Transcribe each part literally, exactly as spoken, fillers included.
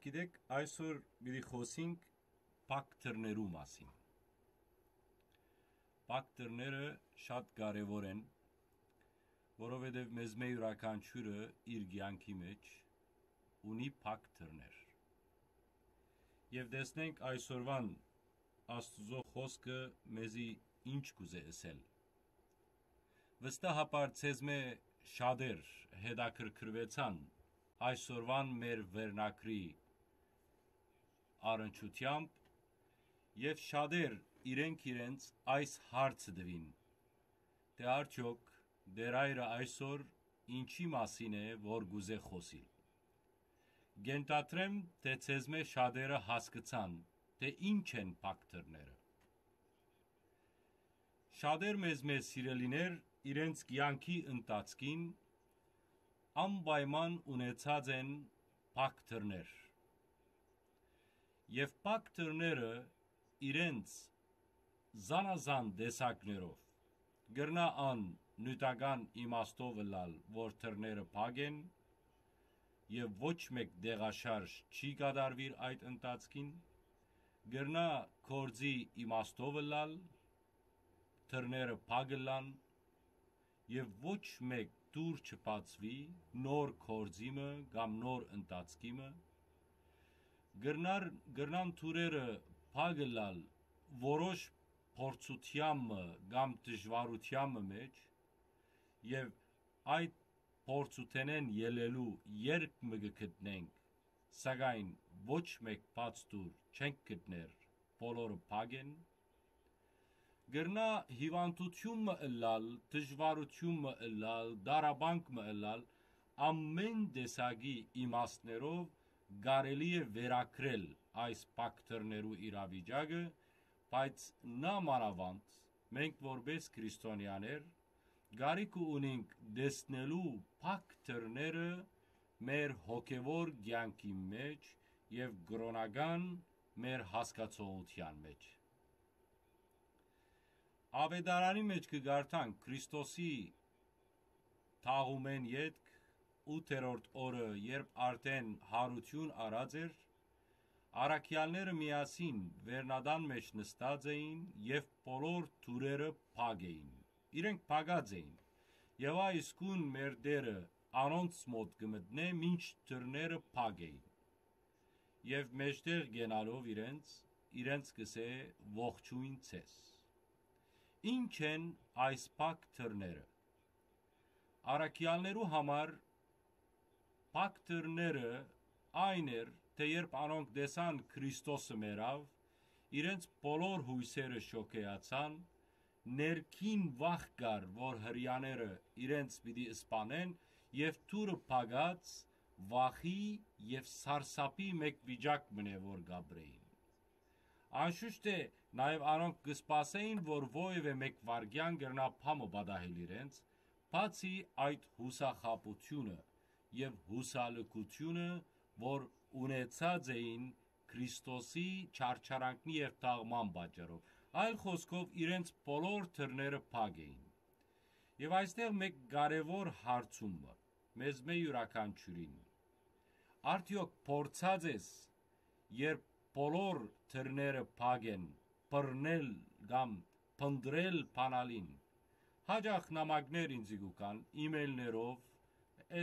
Գիտեք, այսօր պիտի խօսենք փակ դռներու մասին։ Փակ դռները շատ կարեւոր են, որովհետեւ մեզմէ իւրաքանչիւրը իր կեանքի մէջ ունի փակ դռներ։ Եւ տեսնենք այսօրուան Աստուծոյ խօսքը մեզի ինչ կ'ուզէ ըսել։ Վստահաբար ձեզմէ շատեր հետաքրքրուեցան այսօրուան մեր վերնագրի առնչութեամբ եւ շատեր իրենք իրենց այս հարցը տուին, թէ արդեօք Տէր Հայրը այսօր ինչի՞ մասին է, որ կ'ուզէ խօսիլ։ Կ'ենթադրեմ, թէ ձեզմէ շատերը հասկցան, թէ ինչ են փակ դռները։ Շատեր մեզմէ, սիրելիներ, իրենց կեանքի ընթացքին անպայման ունեցած են փակ դռներ։ Եւ փակ դռները իրենց զանազան տեսակներով կրնայ ան նիւթական իմաստով ըլլալ, որ դռները փակ են եւ ոչ մէկ տեղաշարժ չի կատարուիր այդ ընթացքին, կրնայ գործի իմաստով ըլլալ, դռները փակ ըլլան եւ ոչ մէկ դուռ չբացուի նոր գործի մը կամ նոր ընթացքի մը, կրնար, կրնան դուռերը փակ ըլլալ որոշ փորձութեան մը կամ դժուարութեան մը մէջ, եւ այդ փորձութենէն ելլելու երկ մը կը գտնենք, սակայն ոչ մէկ բաց դուռ չենք գտներ, բոլորը փակ են։ Կրնայ հիւանդութիւն մը ըլլալ, դժուարութիւն մը ըլլալ, տառապանք մը ըլլալ, ամէն տեսակի իմաստներով կարելի է վերագրել այս փակ դռներու իրավիճակը, բայց նամանաւանդ մենք որպէս քրիստոնեաներ կարիքը ունինք տեսնելու փակ դռները մեր հոգեւոր կեանքի մէջ եւ կրօնական մեր հասկացողութեան մէջ։ Աւետարանի մէջ կը կարդանք Քրիստոսի թաղումէն ետք, ութերորդ օրը, երբ արդէն յարութիւն առած էր, առաքեալները միասին վերնատան մէջ նստած էին եւ բոլոր դուռերը փակ էին։ Իրենք փակած էին։ Եւ այ իսկուն մեր Տէրը անոնց մօտ կը մտնէ, մինչ դռները փակ էին։ Եւ մէջտեղ կենալով իրենց, իրենց կ'ըսէ. «Ողջոյն ձեզ»։ Ի՞նչ են այս փակ դռները։ Առաքեալներու համար փակ դռները այն էր, թէ երբ անոնք տեսան Քրիստոսը մեռաւ, իրենց բոլոր յոյսերը շոգեացան, ներքին վախ կար, որ Հրեաները իրենց պիտի սպանեն, եւ դուռը փակած, վախի եւ սարսափի մէկ վիճակ մը, որ կ'ապրէին։ Անշուշտ է, նաեւ անոնք կը սպասէին, որ որեւէ մէկ վայրկեան կրնայ բան մը պատահել իրենց, բացի այդ յուսախաբութիւնը եւ յուսալքութիւնը, որ ունեցած էին Քրիստոսի չարչարանքնի եւ թաղման պատճառով։ Այլ խօսքով, իրենց բոլոր դռները փակ էին։ Եւ այստեղ մէկ կարեւոր հարցում մը, մեզմէ իւրաքանչիւրին. արդեօք փորձած ես, երբ բոլոր դռները փակ են, բռնել կամ փնտռել բանալին։ Հաճախ նամակներ ինձի կու գան, email-ներով,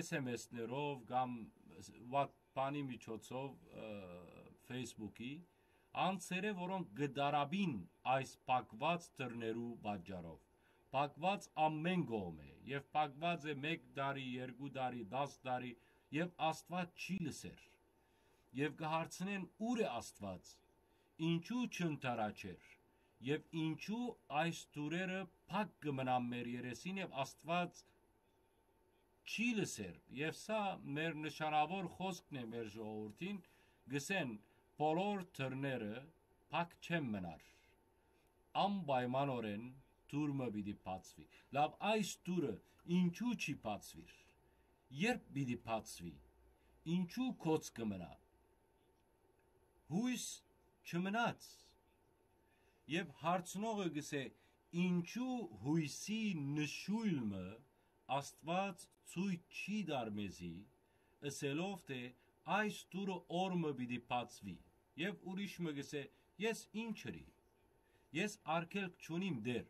S M S-ներով կամ WhatsApp-ի միջոցով, ը, Facebook-ի, անձերը, որոնք կը տառապին այս փակուած դռներու պատճառով։ Փակուած ամէն կողմէ, եւ փակուած է մէկ տարի, երկու տարի, դաս տարի, եւ Աստուած չի լսեր։ Եւ կը հարցնեն. «Ո՞ւր է Աստուած, ինչու՞ չընդառաջեր, եւ ինչու՞ այս դուռերը փակ կը մնան մեր երեսին եւ Աստուած չի լսեր»։ Եւ սա մեր նշանաւոր խօսքն է մեր ժողովուրդին, կ'ըսեն. «Բոլոր դռները փակ չեն մնար, անպայմանօրէն դուռ մը պիտի բացուի»։ Լաւ, այս դուռը ինչու՞ չի բացուիր, երբ պիտի բացուի, ինչու՞ գոց կը մնայ, յոյս չմնաց։ Եւ հարցնողը կ'ըսէ. «Ինչու՞ յոյսի նշոյլ մը Աստուած ցոյց չի տար մեզի, ըսելով թէ՝ այս դուռը օր մը պիտի բացուի»։ Եւ ուրիշ մը կ'ըսէ. «Ես ի՞նչ ըրի, ես արգելք չունիմ, Տէր։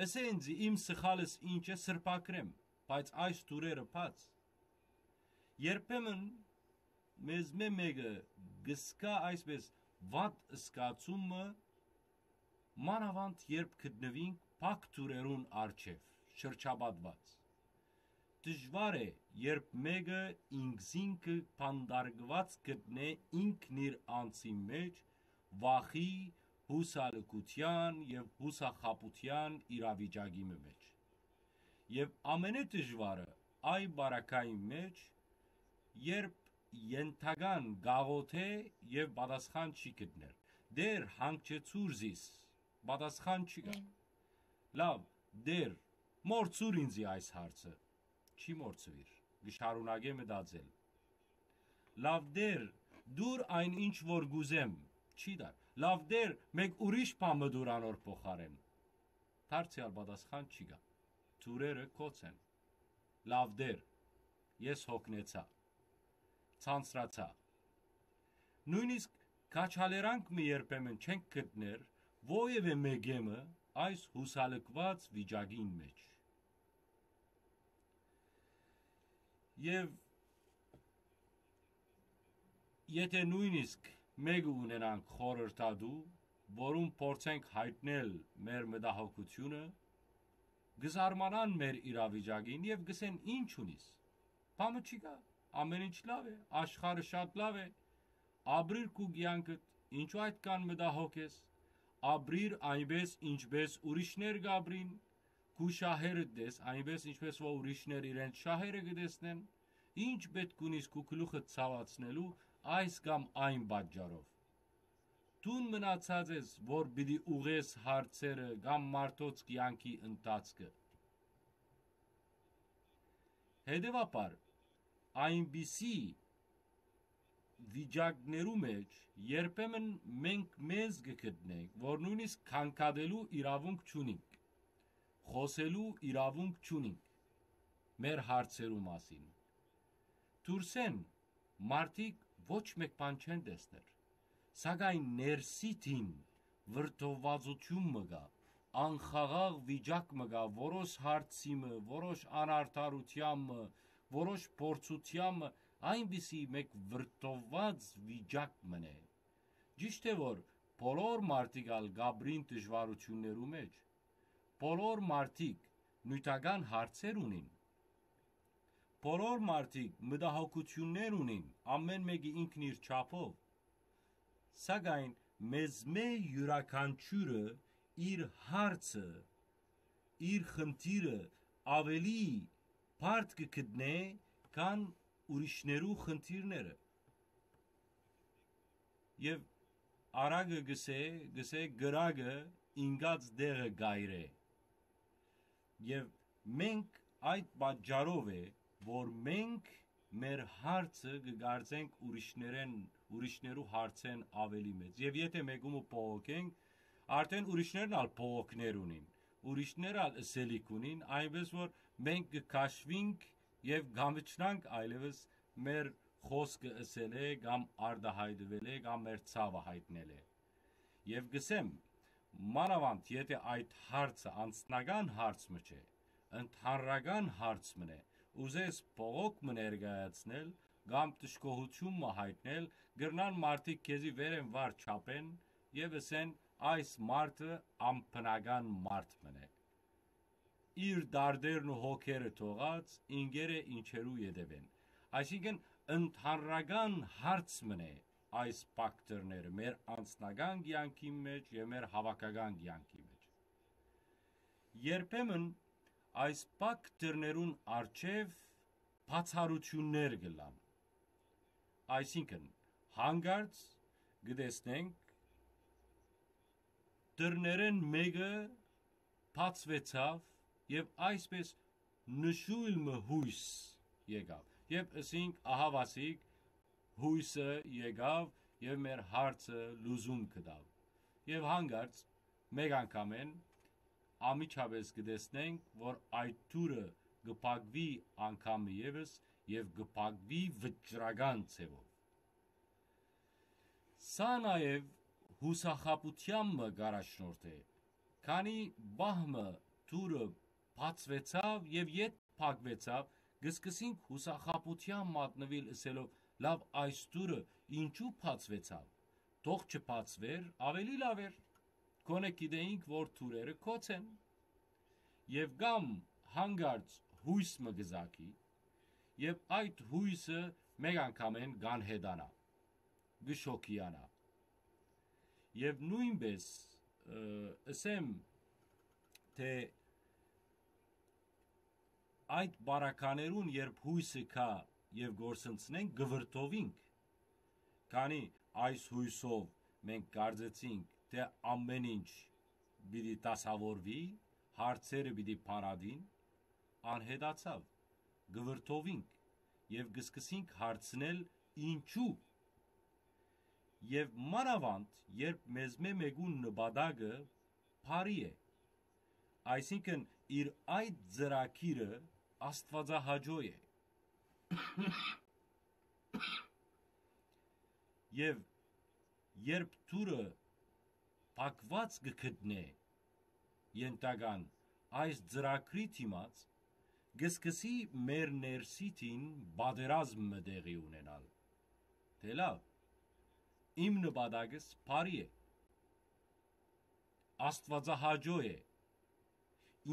Ըսէ ինծի իմ սխալս ինչ է, սրբագրեմ, բայց այս դուռերը բաց»։ Երբեմն մեզմէ մէկը կ'զգայ այսպէս վատ զգացում մը, մանաւանդ երբ գտնուինք փակ դուռերուն առջեւ շրջապատուած։ Դժուար է, երբ մէկը ինքզինքը բանտարկուած գտնէ ինքն իր անձին մէջ, վախի, յուսալքութեան եւ յուսախաբութեան իրավիճակի մը մէջ։ Եւ ամենէ դժուարը այն պարագային մէջ, երբ ենթական կ'աղօթէ եւ պատասխան չի գտներ. «Տէր, հանգչեցուր զիս»։ Պատասխան չի գա։ Լավ, Տէր, մոռցուր ինծի այս հարցը։ Չի մոռցուիր, կը շարունակէ մտածել։ «Լավ, Տէր, դուր այն ինչ որ կ'ուզեմ»։ Չի տար։ «Լավ, Տէր, մէկ ուրիշ բան մը դուր անոր փոխարէն»։ Դարձեալ պատասխան չի գա։ Դուռերը կոց են։ «Լավ, Տէր, ես յոգնեցայ, ցանցրացայ»։ Նոյնիսկ քաջալերանք մը երբեմն չենք գտներ որեւէ մէկէ մը այս յուսալքուած վիճակին մէջ։ Եւ եթէ նոյնիսկ մէկը ունենանք խորհրդատու, որուն փորձենք յայտնել մեր մտահոգութիւնը, կը զարմանան մեր իրավիճակին եւ կ'ըսեն. «Ի՞նչ ունիս, բան մը չի գա, ամէն ինչ լաւ է, աշխարհը շատ լաւ է, ապրիր քու կեանքդ, ինչո՞ւ այդքան մտահոգ ես, ապրիր այնպէս, ինչպէս ուրիշներ կ'ապրին, քու շահերդ տես, այնպէս ինչպէս որ ուրիշներ իրենց շահերը կը տեսնեն, ի՞նչ պէտք ունիս քու գլուխդ ցաւացնելու այս կամ այն պատճառով։ Դուն մնացած ես, որ պիտի ուղղես հարցերը կամ մարդոց կեանքի ընթացքը»։ Հետեւաբար, այնպիսի վիճակներու մէջ երբեմն մենք մեզ կը գտնենք, որ նոյնիսկ քանքատելու իրաւունք չունինք, խօսելու իրաւունք չունինք մեր հարցերու մասին։ Դուրսէն մարդիկ ոչ մէկ բան չեն տեսներ, սակայն ներսիդին վրդովվածութիւն մը կայ, անխաղաղ վիճակ մը կայ, որոշ հարցի մը, որոշ անարդարութեան մը, որոշ փորձութեան մը, այնպիսի մէկ վրդովված վիճակ մըն է։ Ճիշդ է, որ բոլոր մարդիկ ալ կ'ապրին դժուարութիւններու մէջ, բոլոր մարդիկ նիւթական հարցեր ունին, բոլոր մարդիկ մտահոգութիւններ ունին, ամէն մէկը ինքն իր չափով, սակայն մեզմէ իւրաքանչիւրը իր հարցը, իր խնդիրը աւելի բարդ կը գտնէ, քան ուրիշներու խնդիրները։ Եւ արագը գսէ, գսէ կրակը ինկած տեղը կ'այրէ։ Եւ մենք այդ պատճառով է, որ մենք մեր հարցը կը կարծենք ուրիշներեն, ուրիշներու հարցէն աւելի մեծ։ Եւ եթէ մեկումը բողոքենք, արդեն ուրիշներն ալ բողոքներ ունին, ուրիշներ ալ ըսելիք ունին, այնպես որ մենք կը քաշվինք եւ կամիջնանք այլեւս մեր խօսքը ըսելէ կամ արտահայտուելէ կամ մեր ցաւը յայտնելէ։ Եւ կ'ըսեմ, մանաւանդ եթէ այդ հարցը անձնական հարց մը չէ, ընդհանրական հարց մըն է, ուզես բողոք մը ներկայացնել կամ դժգոհութիւն մը յայտնել, կրնան մարդիկ քեզի վեր են վար չափեն եւ ըսեն. «Այս մարդը անբնական մարդ մըն է, իր դարդերն ու հոգերը թողած, ինկերէ ինչերու ետեւեն»։ Այսինքն, ընդհանրական հարց մըն է այս փակ դուռերը մեր անձնական կեանքին մէջ եւ մեր հաւաքական կեանքի մէջ։ Երբեմն այս փակ դուռերուն առջեւ բացառութիւններ կ'ըլլան։ Այսինքն, հանկարծ կը տեսնենք դուռերէն մէկը բացուեցաւ եւ այսպէս նշոյլ մը յոյս եկաւ։ Եւ ըսինք. «Ահա, Վասիկ, յոյսը եկաւ եւ մեր հարցը լուծում գտաւ»։ Եւ հանկարծ մէկ անգամէն անմիջապէս կը տեսնենք, որ այդ դուռը կը փակուի անգամ եւս եւ կը փակուի վճռական ձեւով։ Սա նաեւ յուսախաբութեան մը կ'առաջնորդէ, քանի պահ մը դուռը բացուեցաւ եւ յետ փակուեցաւ, կը սկսինք յուսախաբութեան մատնուիլ, ըսելով. «Լաւ, այս դուռը ինչու բացուեցաւ։ Թող չբացուէր, աւելի լաւ էր։ Գոնե գիտէինք որ դուռերը գոց են»։ Եւ կամ հանկարծ յոյս մը կը զակի, եւ այդ յոյսը մէկ անգամէն կ'անհետանայ, կը շոգիանայ։ Եւ նոյնպէս, ը, ըսեմ, թէ այդ պարագաներուն, երբ յոյսը գայ եւ կորսնցնենք, կը վրդովինք, քանի այս յոյսով մենք կարծեցինք թէ ամէն ինչ պիտի դասաւորուի, հարցերը պիտի փարատին, անհետացաւ, կը վրդովինք եւ կը սկսինք հարցնել ինչու։ Եւ մանաւանդ երբ մեզմէ մէկուն նպատակը բարի է, այսինքն իր այդ ծրագիրը աստուածահաճոյ է։ Եւ երբ դուռը փակուած կը գտնէ, ենթական այս ծրագրի դիմաց, կը սկսի մեր ներսիդին պատերազմ մը տեղի ունենալ, թէ լաւ, իմ նպատակս բարի է, աստուածահաճոյ է,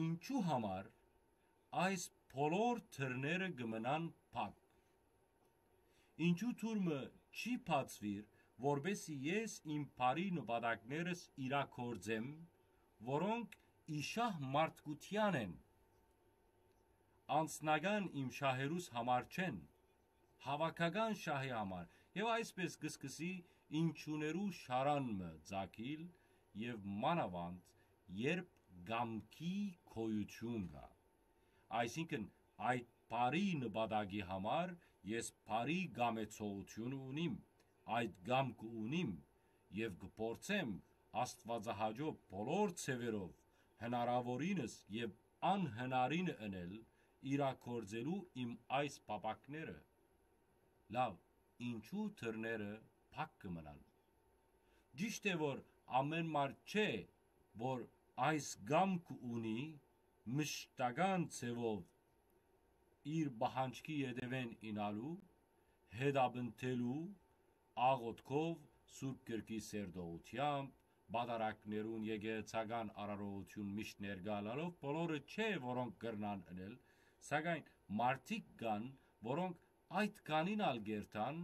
ինչու համար այս բոլոր դռները կը մնան փակ։ Ինչու դուռ մը չի բացուիր, որպեսզի ես իմ բարի նպատակներս իրագործեմ, որոնք ի շահ մարդկութեան են, անձնական իմ շահերուս համար չեն, հաւաքական շահի համար։ Եւ այսպէս կը սկսի ինչուներու շարան մը ծագիլ, եւ մանաւանդ երբ կամքի գոյութիւն կայ, այսինքն այդ բարի նպատակի համար ես բարի կամեցողութիւն ունիմ, այդ կամքը ունիմ, եւ կը փորձեմ աստուածահաճոյ բոլոր ձեւերով, հնարաւորինս եւ անհնարինը ընել, իրագործելու իմ այս փափաքները։ Լաւ, ինչու դռները փակ կը մնան։ Ճիշդ է որ ամէն մարդ չէ որ այս կամքը ունի մշտական ձեւով իր պահանջքի ետեւէն իյնալու, հետապնդելու, աղօթքով, Սուրբ Գրքի սերտողութեամբ, պատարագներուն, եկեղեցական արարողութիւն միշտ ներկայ ըլլալով, բոլորը չէ որոնք կրնան ընել, սակայն մարդիկ կան, որոնք այդ կանին ալ կերթան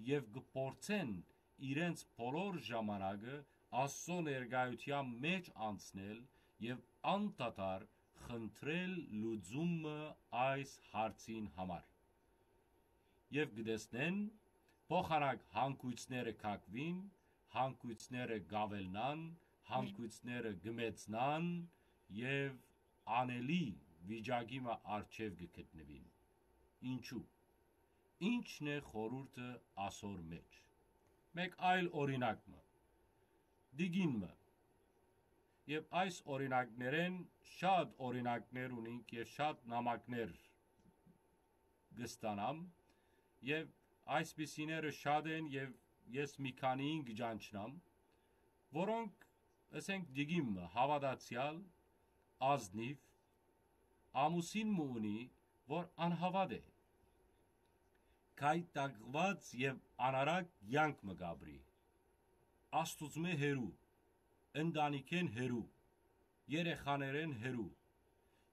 եւ կը փորձեն իրենց բոլոր ժամանակը Աստուծոյ ներկայութեան մէջ անցնել եւ անդադար խնդրել լուծումը այս հարցին համար։ Եւ կը տեսնեն փոխանակ հանգոյցները կակուին, հանգոյցները կավելնան, հանգոյցները կը մեծնան եւ անելի վիճակի մը առջեւ կը գտնուին։ Ինչու։ Ի՞նչն է խորհուրդը ասոր մէջ։ Մէկ այլ օրինակ մը։ Դիգին մը։ Եւ այս օրինակներէն շատ օրինակներ ունինք եւ շատ նամակներ կը ստանամ, եւ այսպիսիները շատ են, եւ ես մի քանիին կը ճանչնամ, որոնք, ըսենք, դիգին մը հաւատացեալ, ազնիւ, ամուսին մը ունի, որ անհաւատ է, գայթակղուած եւ անարակ կեանք մը կ'ապրի, Աստուծմէ հեռու, ընտանիքէն հեռու, երեխաներէն հեռու,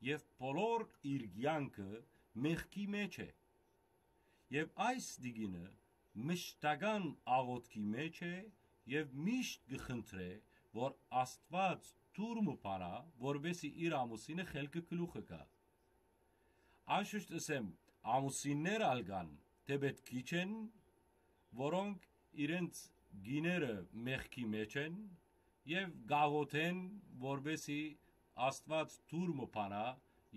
եւ բոլոր իր կեանքը մեղքի մէջ է։ Եւ այս դիգինը մշտական աղօթքի մէջ է եւ միշտ կը խնդրէ, որ Աստուած դուռ մը բանայ, որպէսզի իր ամուսինը խելքը գլուխը գայ։ Անշուշտ ըսեմ, ամուսիններ ալ կան, թէպէտ քիչ են, որոնք իրենց կիները մեղքի մէջ են եւ կ'աղօթեն, որպէսզի Աստուած դուռ մը բանայ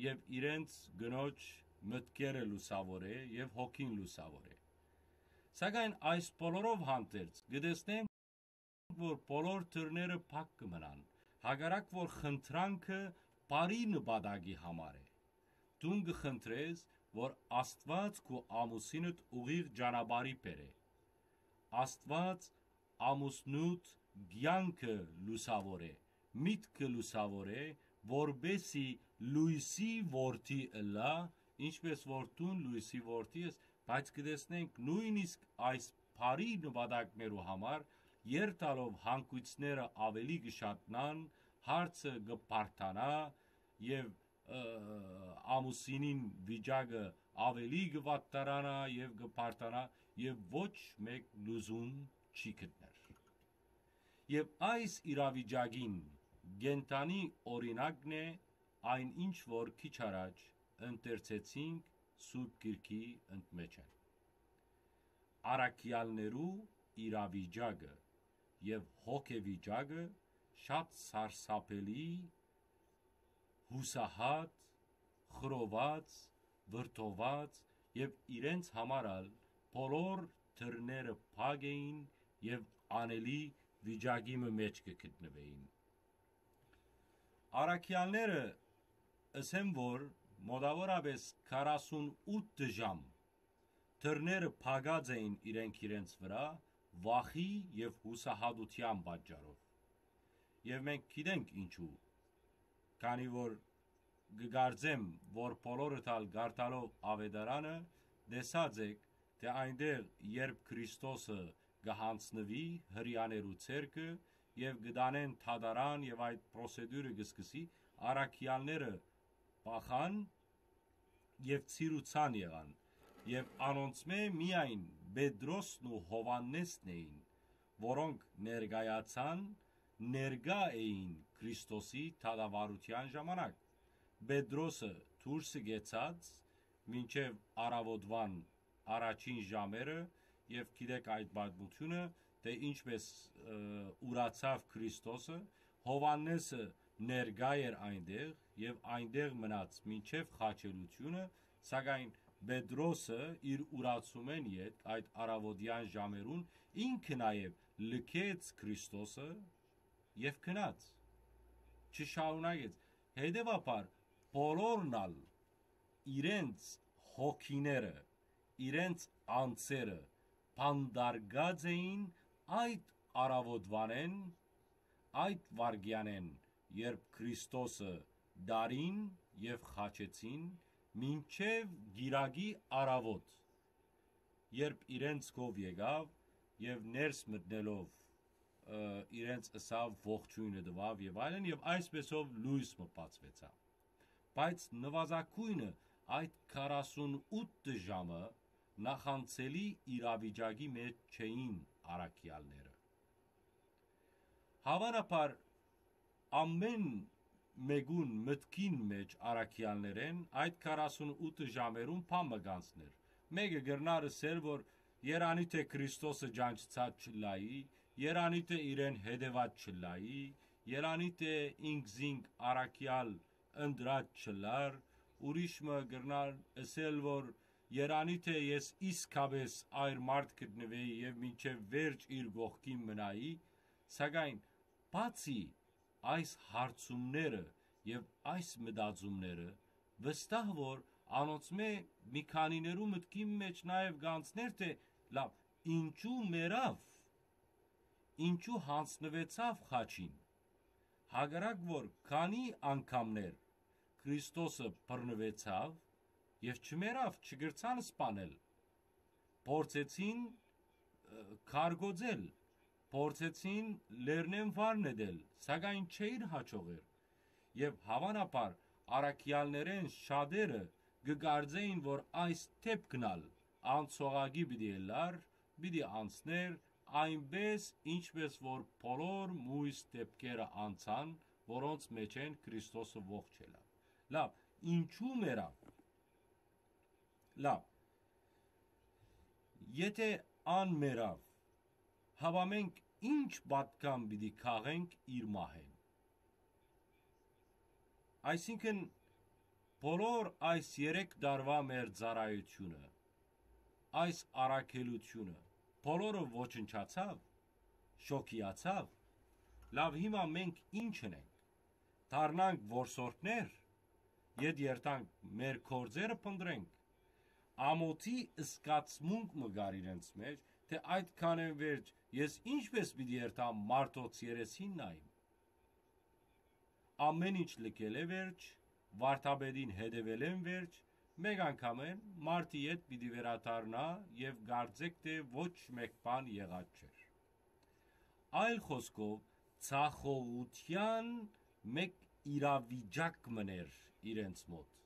եւ իրենց կնոջ մտքերը լուսաւորէ եւ հոգին լուսաւորէ։ Սակայն այս բոլորով հանդերձ կը տեսնենք, որ բոլոր դռները փակ կը մնան, հակառակ որ խնդրանքը բարի նպատակի համար է։ Դուն կը խնդրես որ Աստուած քու ամուսինդ ուղիղ ճանապարհի բերէ։ Աստուած ամուսնուդ կեանքը լուսաւորէ, միտքը լուսաւորէ, որպէսի լոյսի որդի ըլլայ, ինչպէս որ դուն լոյսի որդի ես, բայց կը տեսնենք նոյնիսկ այս բարի նպատակներու համար, երթալով հանգոյցները աւելի կը շատնան, հարցը կը բարդանայ եւ, ը, ամուսինին վիճակը աւելի կը վատթարանայ եւ կը բարդանայ եւ ոչ մէկ լուծում չի գտներ։ Եւ այս իրավիճակին կենդանի օրինակն է այն, ինչ որ քիչ առաջ ընթերցեցինք Սուրբ Գիրքի ընդմէջէն։ Առաքեալներու իրավիճակը եւ հոգեվիճակը շատ սարսափելի, յուսահատ, խռոված, վրդոված եւ իրենց համար ալ բոլոր դռները փակ էին եւ անելի վիճակի մը մէջ կը գտնուէին։ Առաքեալները, ըսեմ որ մոտաւորապէս քառասունութ ժամ դռները փակած էին իրենք իրենց վրայ վախի եւ յուսահատութեան պատճառով։ Եւ մենք գիտենք ինչու, քանի որ կը կարծեմ, որ բոլորդ ալ կարդալով Աւետարանը տեսած էք, թէ այնտեղ, երբ Քրիստոսը կը յանձնուի հրեաներու ձեռքը եւ կը տանեն դատարան եւ այդ պրոսեդուրը կը սկսի, առաքեալները փախան եւ ցիրուցան եղան, եւ անոնցմէ միայն Պետրոսն ու Յովհաննէսն էին, որոնք ներկայացան, ներկայ էին Քրիստոսի դատավարութեան ժամանակ։ Պետրոսը դուրսը գեցած մինչեւ առաւօտուան առաջին ժամերը, եւ գիտեք այդ պատմությունը, թէ ինչպես, ը, ուրացաւ Քրիստոսը, Յովհաննէսը ներկայ էր այնտեղ եւ այնտեղ մնաց մինչեւ խաչելությունը, սակայն Պետրոսը իր ուրացումէն ետք այդ առաւօտեան ժամերուն ինքը նաեւ լքեց Քրիստոսը եւ գնաց, չշարունակեց։ Հետեւաբար, բոլորն ալ իրենց հոգիները, իրենց անձերը բանտարկած էին այդ առաւօտուանէն, այդ վայրկեանէն, երբ Քրիստոսը տարին եւ խաչեցին, մինչեւ կիրակի առաւօտ, երբ իրենց քով եկաւ եւ ներս մտնելով, ը, իրենց ըսաւ, ողջոյնը տուաւ եւ այլն, եւ այսպեսով լոյս մը բացուեցաւ։ Բայց նուազագոյնը այդ քառասունութ ժամը նախանցելի իրավիճակի մէջ չէին առաքեալները։ Հաւանաբար ամէն մէկուն մտքին մէջ առաքեալներէն այդ քառասունութ ժամերուն բան մը կանցներ։ Մէկը կրնար ըսել, որ երանի թէ Քրիստոսը ճանչցած չլայի, երանի թէ իրեն հետեւած չլայի, երանի թէ ինքզինք առաքեալ ընտրած չլար, ուրիշ մը կրնար ըսել, որ երանի թէ ես իսկապէս այր մարդ գտնուէի եւ մինչեւ վերջ իր կողքին մնայի, սակայն բացի այս հարցումները եւ այս մտածումները, վստահ որ անոնցմէ մի քանիներու մտքին մէջ նաեւ կանցներ, թէ լավ, ինչու մեռաւ, ինչու յանձնուեցաւ խաչին, հակառակ որ քանի անգամներ Քրիստոսը բռնուեցաւ եւ չմեռաւ, չկրցան սպանել, փորձեցին, ը, քարկոծել, փորձեցին լեռնէն վար նետել, սակայն չէին հաջողեր։ Եւ հաւանաբար առաքեալներէն շատերը կը կարծէին, որ այս դէպքն ալ անցողակի պիտի ըլլար, պիտի անցներ, այնպէս, ինչպէս որ բոլոր մոյս դէպքերը անցան, որոնց մէջէն Քրիստոսը ողջ ելաւ։ Լավ, ինչու մեռաւ։ Լավ, եթէ ան մեռաւ, հապա մենք ի՞նչ պատգամ պիտի քաղենք իր մահէն։ Այսինքն, բոլոր այս երեք տարուայ մեր ծառայությունը, այս առաքելությունը, բոլորը ոչնչացաւ, շոքիացաւ։ Լավ, հիմա մենք ի՞նչ ընենք։ Դառնանք որսորդներ, ետ երթանք մեր գործերը փնտրենք, ամօթի զգացմունք մը կար իրենց մէջ, թէ այդքանէն վերջ ես ի՞նչպէս պիտի երթամ մարդոց երեսին նայիմ։ Ամէն ինչ լքելէ վերջ, վարդապետին հետեւելէն վերջ, մէկ անգամէն մարդի ետ պիտի վերադառնայ եւ կարծէք թէ ոչ մէկ բան եղած չէր։ Այլ խօսքով, ցախողութեան մէկ իրավիճակ մըն էր իրենց մօտ,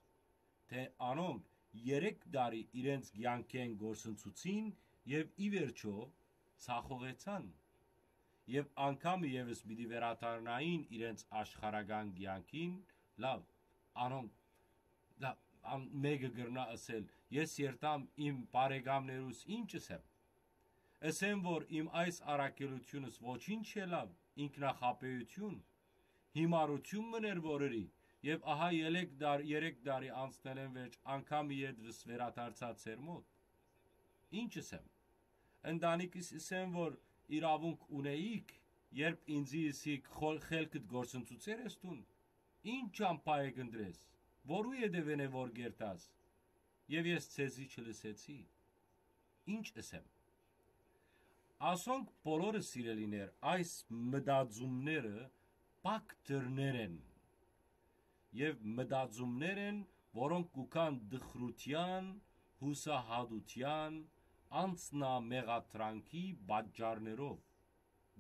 թէ անոնք երեք տարի իրենց կեանքէն կորսնցուցին եւ ի վերջոյ ցախողեցան։ Եւ անգամ ևս պիտի վերադառնային իրենց աշխարհական կեանքին, լաւ, անոնք, լաւ, ան-, մէկը կրնայ ըսել. «Ես երթամ իմ բարեկամներուս ի՞նչ ըսեմ։ Ըսեմ, որ իմ այս առաքելութիւնս ոչինչ չէ, լաւ, ինքնախաբէութիւն, յիմարութիւն մըն էր, որ ըրի, եւ ահա ելեք դար-, երեք տարի անցնելէն վերջ անգամ ետս վերադարձայ ձեր մօտ։ Ի՞նչ ըսեմ։ Ընտանիքս ըսեմ, որ իրաւունք ունէիք, երբ ինծի ըսիք, խո-, խելքդ կորսնցուցեր ես դուն։ Ի՞նչ ճամբայ է կընտրես, որու ետեւէն է որ կերթաս։ Եւ ես ձեզի չլսեցի։ Ի՞նչ ըսեմ»։ Ասոնք բոլորը, սիրելիներ, այս մտածումները փակ դռներ են, եւ մտածումներ են, որոնք կու գան տխրութեան, յուսահատութեան, անձնամեղադրանքի պատճառներով,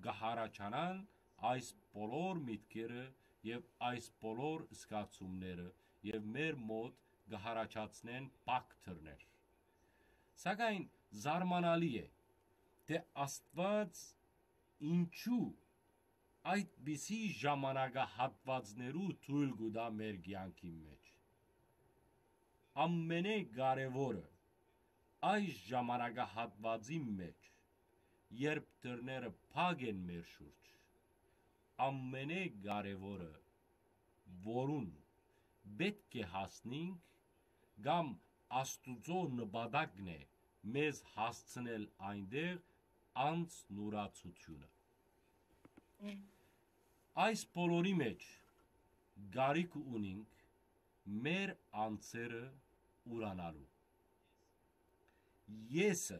կը յառաջանան այս բոլոր միտքերը եւ այս բոլոր զգացումները, եւ մեր մօտ կը յառաջացնեն փակ դռներ։ Սակայն զարմանալի է, թէ Աստուած ինչու այդպիսի ժամանակահատուածներու թոյլ կու տայ մեր կեանքին մէջ։ Ամենէ կարեւորը, այս ժամանակահատուածին մէջ, երբ դռները փակ են մեր շուրջ, ամենէ կարեւորը, որուն պէտք է հասնինք, կամ Աստուծոյ նպատակն է մեզ հասցնել այնտեղ, անձնուրացութիւնը։ Այս բոլորի մէջ կարիք ունինք մեր անձերը ուրանալու։ Եսը,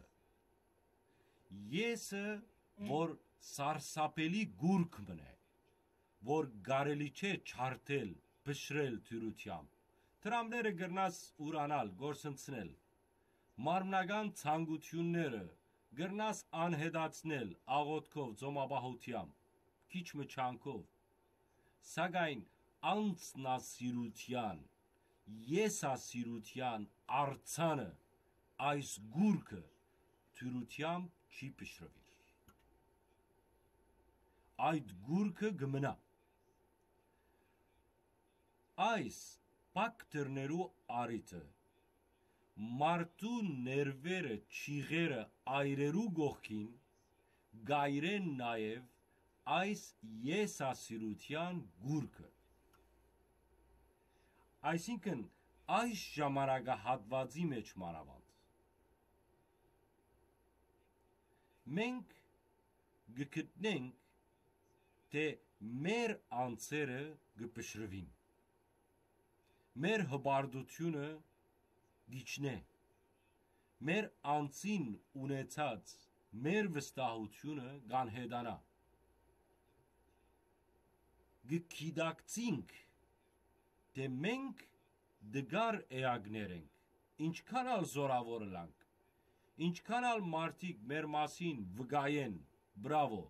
եսը, որ սարսափելի գուրգ մըն է, որ կարելի չէ չարդել, փշրել դիւրութեամբ։ Դրամները կրնաս ուրանալ, կորսնցնել։ Մարմնական ցանկութիւնները կրնաս անհետացնել աղօթքով, ծոմապահութեամբ, քիչ մը ջանքով։ Սակայն անձնասիրութեան, եսասիրութեան արձանը, այս գուրգը դիւրութեամբ չի փշրուիր։ Այդ գուրգը կը մնայ։ Այս փակ դռներու առիթը մարդու ներուերը, չիղերը այրերու կողքին կ'այրեն նաեւ այս եսասիրութեան գուրգը։ Այսինքն, այս ժամանակահատուածի մէջ մանաւանդ, մենք կը գտնենք, թէ մեր անձերը կը փշրուին, մեր հպարտութիւնը կ'իջնէ, մեր անձին ունեցած մեր վստահութիւնը կ'անհետանայ։ Կը գիտակցինք, թէ մենք դգար էակներ ենք, ինչքան ալ զօրաւոր ըլանք, ինչքան ալ մարդիկ մեր մասին վկայեն. «Բրավո,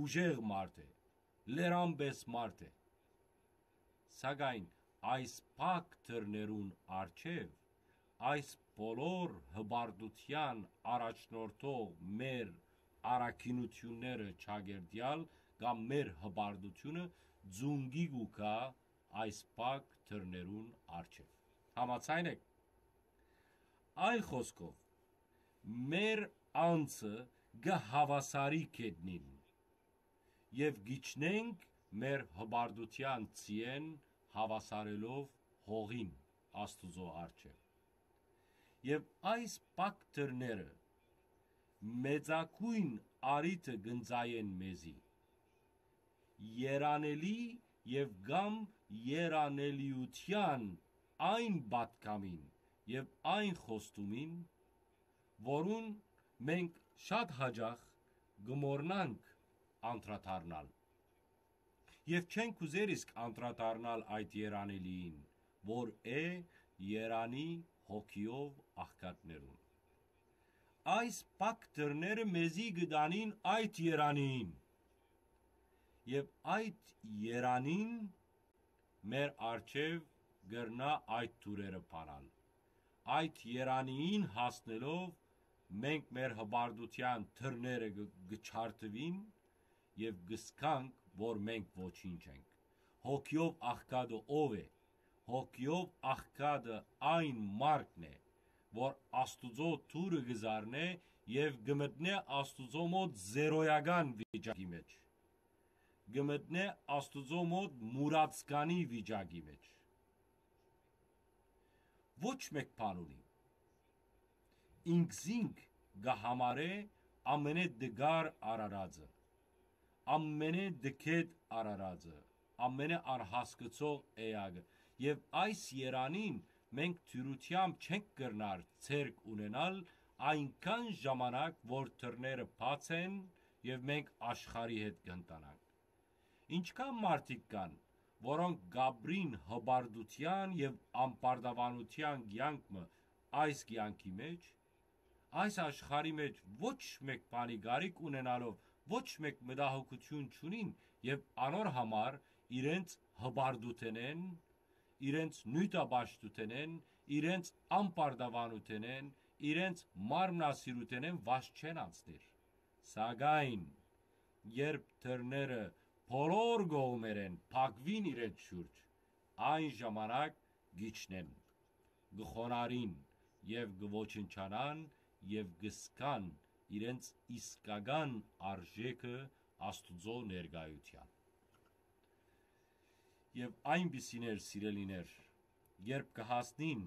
ուժեղ մարդ է, լերան պէս մարդ է»։ Սակայն այս փակ դռներուն առջեւ, այս բոլոր հպարտութեան առաջնորդող մեր առաքինութիւնները չակերտեալ կամ մեր հպարտութիւնը ծունկի կու գայ այս փակ դռներուն առջեւ։ Համաձայն եք։ Այլ խօսքով, մեր անձը կը հաւասարի գետնին եւ կ'իջնենք մեր հպարտութեան ձիէն հաւասարելով հողին Աստուծոյ առջեւ։ Եւ այս փակ դռները մեծագոյն առիթը կ'ընծայեն մեզի, երանելի եւ կամ երանելիութեան այն պատգամին, եւ այն խոստումին, որուն մենք շատ յաճախ կը մոռնանք անդրադառնալ։ Եւ չենք ուզեր իսկ անդրադառնալ այդ երանելիին, որ է երանի հոգիով աղքատներուն։ Այս փակ դռները մեզի կը տանին այդ երանին։ Եւ այդ երանին մեր առջեւ կրնայ այդ դուռերը բանալ։ Այդ երանին հասնելով մենք մեր հպարտութեան դռները կը, կը չարդուին եւ կ'զգանք, որ մենք ոչինչ ենք։ Հոգիով աղքատը ո՞վ է։ Հոգիով աղքատը այն մարդն է, որ Աստուծոյ դուռը կը զարնէ եւ կը մտնէ Աստուծոյ մօտ զերոյական վիճակի մէջ, կը մտնէ Աստուծոյ մօտ մուրացկանի վիճակի մէջ։ Ոչ մէկ բան ունի։ Ինքզինք կը համարէ ամենէ դգար արարածը, ամենէ դգետ արարածը, ամենէ անհասկցող էակը։ Եւ այս երանին մենք դիւրութեամբ չենք կրնար ձեռք ունենալ այնքան ժամանակ, որ դռները բաց են եւ մենք աշխարհի հետ կ'ընտանանք։ Ինչքան մարդիկ կան, որոնք կ'ապրին հպարտութեան եւ ամբարտավանութեան կեանք մը այս կեանքի մէջ, այս աշխարհի մէջ ոչ մէկ բանի կարիք ունենալով ոչ մէկ մտահոգութիւն չունին եւ անոր համար իրենց հպարտութենէն, իրենց նիւթապաշտութենէն, իրենց ամբարտավանութենէն, իրենց մարմնասիրութենէն վազ չեն անցնիր։ Սակայն երբ դռները բոլոր կողմերէն փակուին իրենց շուրջ, այն ժամանակ կ'իջնեն, կը խոնարհին եւ կը ոչնչանան եւ կ'զգան իրենց իսկական արժէքը Աստուծոյ ներկայութեան։ Եւ այնպիսիներ, սիրելիներ, երբ կը հասնին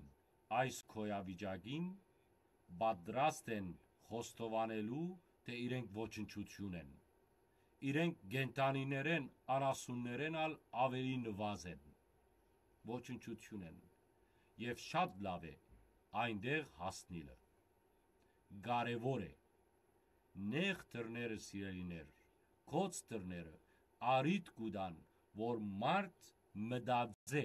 այս գոյավիճակին, պատրաստ են խոստովանելու, թէ իրենք ոչնչութիւն են։ Իրենք կենդանիներէն, անասուններէն ալ աւելի նուազ են։ Ոչնչութիւն են։ Եւ շատ լաւ է այնտեղ հասնիլը։ Կարեւոր է։ Նեղ դռները, սիրելիներ, գոց դռները առիթ կու տան, որ մարդ մտածէ,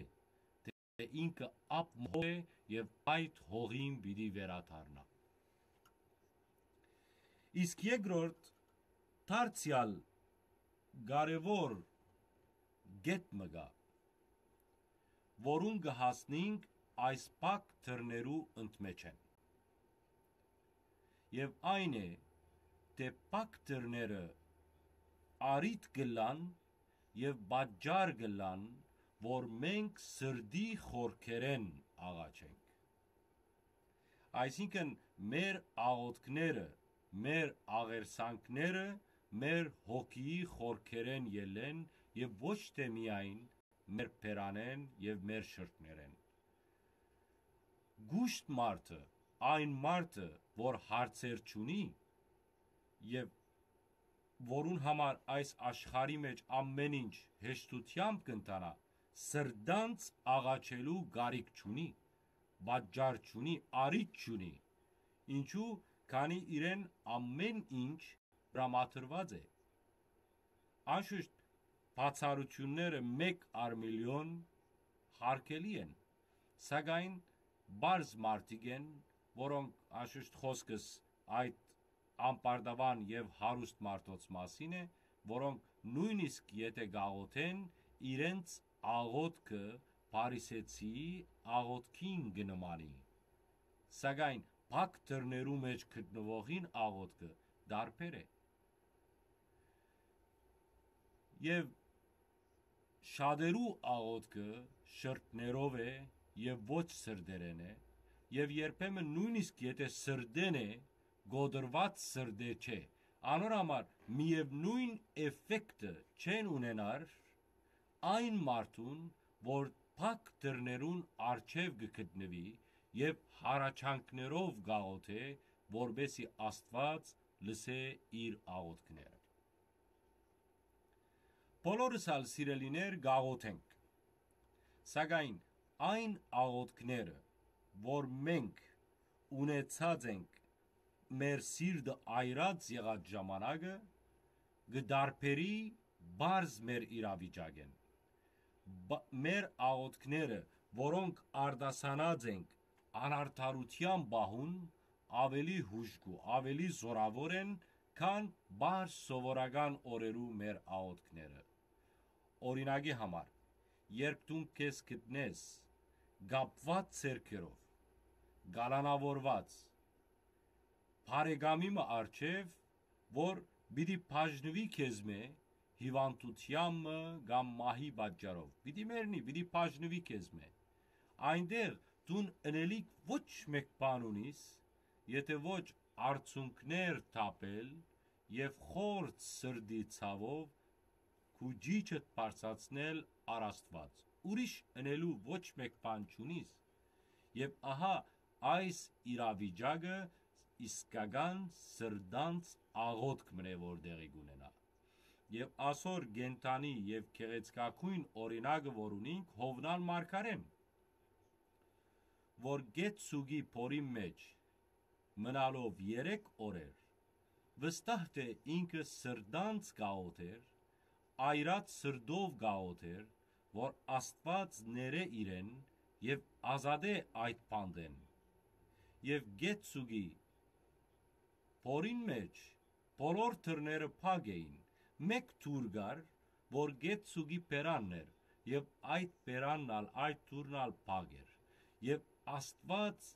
թէ ինքը ափ մը հող է եւ այդ հողին պիտի վերադառնայ։ Իսկ երկրորդ, դարձեալ կարեւոր կետ մը կայ, որուն կը հասնենք այս փակ դռներու ընդմէջէն։ Եւ այն է, թէ փակ դռները առիթ կ'ըլլան եւ պատճառ կ'ըլլան, որ մենք սրտի խորքերէն աղաչենք։ Այսինքն՝ մեր աղօթքները, մեր աղերսանքները մեր հոգիի խորքերէն ելլեն եւ ոչ թէ միայն մեր բերանէն եւ մեր շրթներէն։ Կուշտ մարդը, այն մարդը, որ հարցեր չունի եւ որուն համար այս աշխարհի մէջ ամէն ինչ հեշտութեամբ կ'ընթանայ, սրտանց աղաչելու կարիք չունի, պատճառ չունի, առիթ չունի։ Ինչու՞, քանի իրեն ամէն ինչ տրամադրուած է։ Անշուշտ, բացառութիւնները մէկ առ միլիոն հարգելի են, սակայն պարզ մարդիկ են, որոնք, անշուշտ, խօսքս այդ ամբարտաւան եւ հարուստ մարդոց մասին է, որոնք նոյնիսկ եթէ կաղօթեն, իրենց աղօթքը փարիսեցիի աղօթքին կը նմանի, սակայն փակ դռներու մէջ գտնուողին աղօթքը տարբեր է։ Եւ շատերու աղօթքը շրթներով է եւ ոչ սրտերէն է, եւ երբեմն նոյնիսկ եթէ սրտէն է, կոտրուած սրտէ չէ, անոր համար միեւնոյն էֆեկտը չեն ունենար այն մարդուն, որ փակ դռներուն առջեւ կը գտնուի եւ հառաչանքներով կաղօթէ, որպէսզի Աստուած լսէ իր աղօթքները։ Բոլորս ալ, սիրելիներ, կաղօթենք, սակայն այն աղօթքները, որ մենք ունեցած ենք մեր սիրտը այրած եղած ժամանակը, կը տարբերի պարզ մեր իրավիճակէն։ Բ-, մեր աղօթքները, որոնք արտասանած ենք անարդարութեան պահուն, ավելի հուժկու, ավելի զօրաւոր են, քան պարզ սովորական օրերու մեր աղօթքները։ Օրինակի համար, երբ դուն քեզ գտնես կապուած ձեռքերով, կալանաւորուած, բարեկամի մը առջեւ, որ պիտի բաժնուի քեզմէ հիւանդութեան մը կամ մահի պատճառով, պիտի մեռնի, պիտի բաժնուի քեզմէ։ Այնտեղ դուն ընելիք ոչ մէկ բան ունիս, եթէ ոչ արցունքներ թափել եւ խորթ սրտի ցաւով քու ճիչդ բարձրացնել առ Աստուած։ Ուրիշ ընելու ոչ մէկ բան չունիս։ Եւ ահա այս իրավիճակը իսկական սրտանց աղօթք մնե, որ տեղի կունենայ։ Եւ ասոր կենդանի եւ գեղեցկագոյն օրինակը, որ ունինք, Յովնան մարգարէն, որ գետ սուկի փորին մէջ մնալով երեք օրեր, վստահ թէ ինքը սրտանց կաղօթ էր, այրած սրտով կաղօթ էր, որ Աստուած ներէ իրեն եւ ազատէ այդ բանտէն։ Եւ գետ սուկի փորին մէջ բոլոր դռները փակ էին, մէկ դուռ կար, որ գետ սուկի բերանն էր, եւ այդ բերանն ալ, այդ դուռն ալ փակ էր։ Եւ Աստուած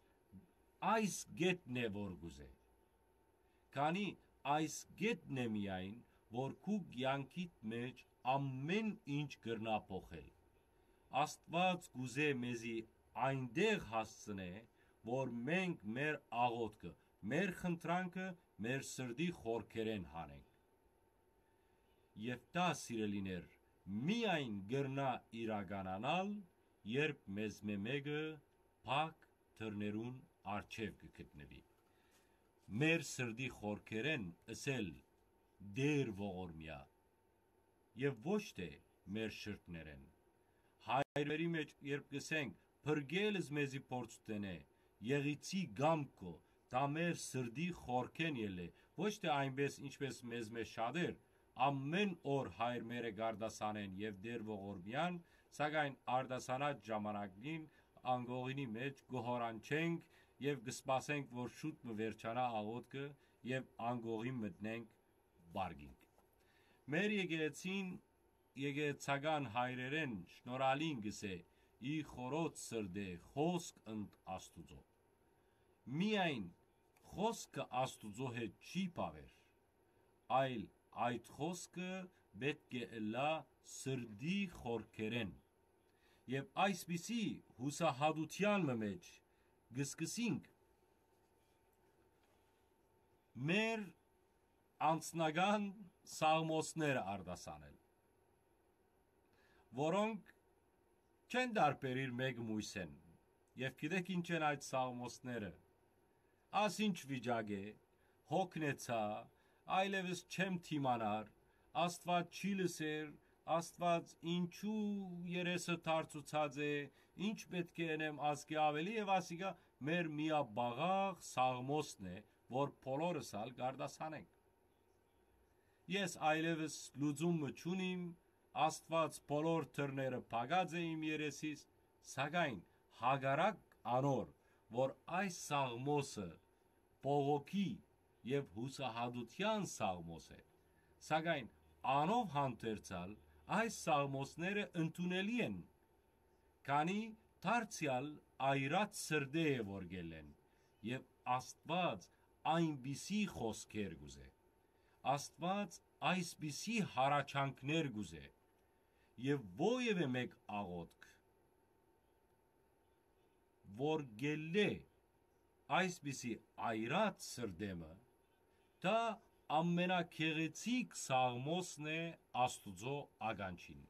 այս գետն է, որ կուզէ։ Քանի այս գետն է միայն, որ քու կեանքիդ մէջ ամէն ինչ կրնայ փոխել։ Աստուած կուզէ մեզի այնտեղ հասցնէ, որ մենք մեր աղօթքը, մեր խնդրանքը մեր սրտի խորքերէն հանենք։ Եւ դա, սիրելիներ, միայն կրնայ իրականանալ, երբ մեզմէ մէկը փակ դռներուն առջեւ կը գտնուի։ Մեր սրտի խորքերէն ըսել Տէր ողորմեայ, եւ ոչ թէ մեր շրթներէն։ Հայրերի մէջ երբ կ'ըսենք, փրկել ես մեզի փորձութենէ, եղիցի կամքով, դա մեր սրտի խորքէն ելլէ, ոչ թէ այնպես, ինչպես մեզմէ շատեր, ամէն օր Հայր մերը կ'արտասանեն եւ Տէր ողորմեան, սակայն արտասանած ժամանակին անկողինի մէջ կ'որանչենք եւ կը սպասենք, որ շուտ մը վերջանայ աղօթքը եւ անկողին մտնենք պարկինգ։ Մեր եկեղեցին, եկեղեցական հայրերէն շնորհալին կ'ըսէ. «Ի խորոց սրտէ խօսք ընդ Աստուծոյ»։ Միայն խօսքը Աստուծոյ հետ չի բաւեր, այլ այդ խօսքը պէտք է ըլլայ սրտի խորքերէն։ Եւ այսպիսի յուսահատութեան մը մէջ կը սկսենք մեր անձնական սաղմոսները արտասանել, որոնք չեն տարբերիր մէկ մոյսէն։ Եւ գիտեք ինչ են այդ սաղմոսները։ Աս ինչ վիճակ է, հոգնեցայ, այլեւս չեմ դիմանար, Աստուած չի լսեր, Աստուած ինչու երեսը դարձուցած է, ինչ պէտք է ընեմ ազգի աւելի, եւ ասիկա մեր միապաղաղ սաղմոսն է, որ բոլորս ալ կ'արտասանենք։ Ես այլեւս լուծում մը չունիմ, Աստուած բոլոր դռները փակած է իմ երեսիս, սակայն հակառակ անոր, որ այս սաղմոսը բողոքի եւ յուսահատութեան սաղմոս է, սակայն անով հանդերձ ալ այս սաղմոսները ընդունելի են, քանի դարձեալ այրած սրտէ է որ գելեն, եւ Աստուած այնպիսի խոսքեր կուզէ։ Աստուած այսպիսի հառաչանքներ կուզէ, եւ որեւէ մէկ աղօթք, որ գելլէ այսպիսի այրած սրտէ մը, դա ամենագեղեցիկ սաղմոսն է Աստուծոյ ականջին։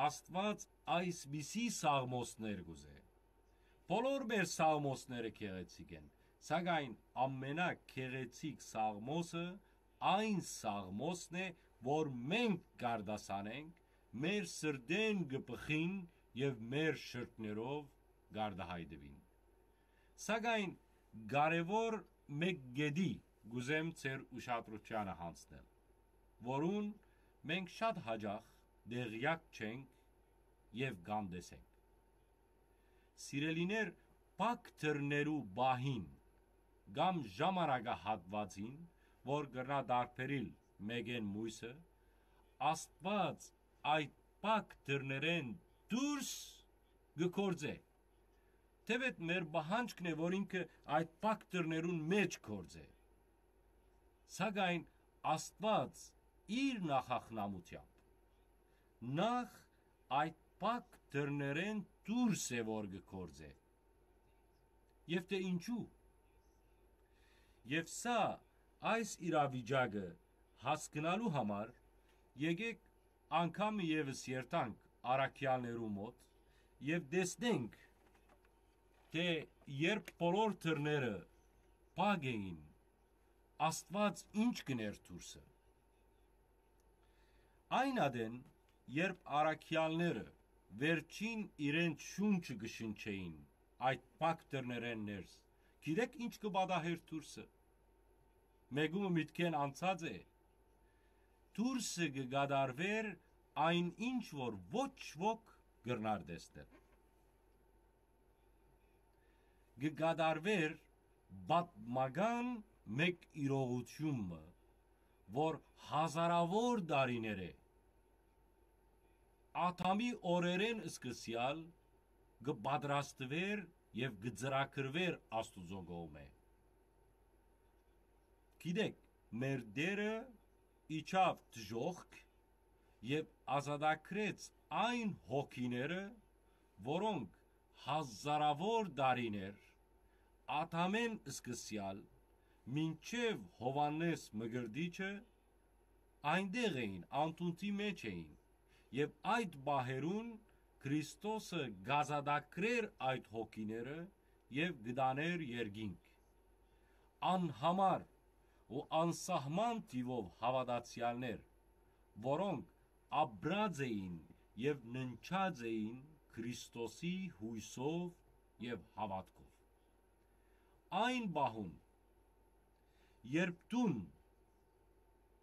Աստուած այսպիսի սաղմոսներ կուզէ։ Բոլոր մեր սաղմոսները գեղեցիկ են, սակայն ամենագեղեցիկ սաղմոսը այն սաղմոսն է, որ մենք կ'արտասանենք, մեր սրտէն կը բխին եւ մեր շրթներով կ'արտահայտուին։ Սակայն կարեւոր մէկ կետի կ'ուզեմ ձեր ուշադրութեանը յանձնել, որուն մենք շատ յաճախ տեղեակ չենք եւ կ'անտեսենք։ Սիրելիներ, փակ դռներու պահին կամ ժամանակահատուածին, որ կրնայ տարբերիլ մէկէն մոյսը, Աստուած այդ փակ դռներէն դուրս կը գործէ։ Թէեւ մեր պահանջքն է, որ ինքը այդ փակ դռներուն մէջ գործէ։ Սակայն Աստուած իր նախախնամութեամբ նախ այդ փակ դռներէն դուրս է, որ կը գործէ։ Եւ թէ ինչու։ Եւ սա, այս իրավիճակը հասկնալու համար, եկեք անգամ եւս երթանք առաքեալներու մօտ եւ տեսնենք, թէ երբ բոլոր դռները փակ էին, Աստուած ինչ կ'ընէր դուրսը։ Այն ատեն, երբ առաքեալները վերջին իրենց շունչը կը շնչէին այդ փակ դռներէն ներս, գիտեք ինչ կը պատահէր դուրսը։ Մէկումը միտքէն անցած է, դուրսը կը կատարուէր այն ինչ որ ոչ ոք կրնար տեսնել։ Կը կատարուէր պատմական մէկ իրողութիւն մը, որ հազարաւոր տարիներ է, Ադամի օրերէն սկսեալ կը պատրաստուէր եւ կը ծրագրուէր Աստուծոյ կողմէ։ Գիտեք, մեր Տէրը իջաւ դժոխք եւ ազատագրեց այն հոգիները, որոնք հազարաւոր տարիներ Ադամէն սկսեալ մինչեւ Յովհաննէս Մկրտիչը այնտեղ էին, անդունդի մէջ էին, եւ այդ պահերուն Քրիստոսը կ'ազատագրէր այդ հոգիները եւ կը տանէր երկինք։ Անհամար ու անսահման թիւով հաւատացեալներ, որոնք ապրած էին եւ ննջած էին Քրիստոսի յոյսով եւ հաւատքով։ Այն պահուն, երբ դուն,